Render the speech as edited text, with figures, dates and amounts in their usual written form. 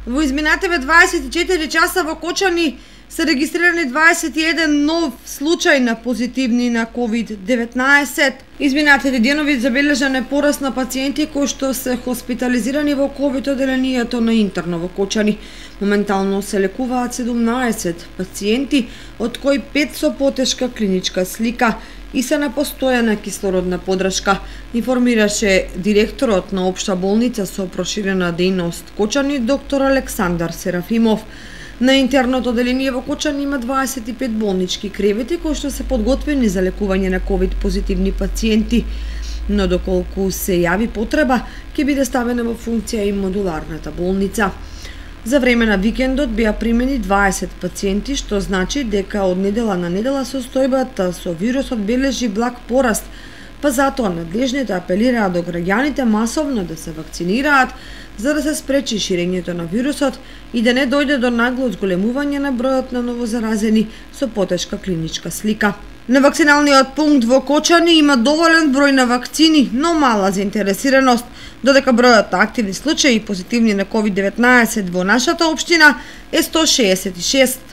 Во изминативе 24 часа во Кочани се регистрирани 21 нов случај на позитивни на COVID-19. Изминатите денови забележан е пораст на пациенти кои што се хоспитализирани во COVID одделението на интерно во Кочани. Моментално се лекуваат 17 пациенти, од кои 5 со потешка клиничка слика и се на постојана кислородна подршка, информираше директорот на Општа болница со проширена дејност Кочани, доктор Александар Серафимов. На интерното одделение во Кочани има 25 болнички кревети кои што се подготвени за лекување на COVID позитивни пациенти, но доколку се јави потреба, ќе биде ставена во функција и модуларната болница. За време на викендот беа примени 20 пациенти, што значи дека од недела на недела состојбата со вирусот бележи благ пораст, па затоа надлежните апелираат до граѓаните масовно да се вакцинираат, за да се спречи ширењето на вирусот и да не дојде до нагло зголемување на бројот на новозаразени со потешка клиничка слика. На вакциналниот пункт во Кочани има доволен број на вакцини, но мала заинтересираност, додека бројот на активни случаи позитивни на COVID-19 во нашата општина е 166.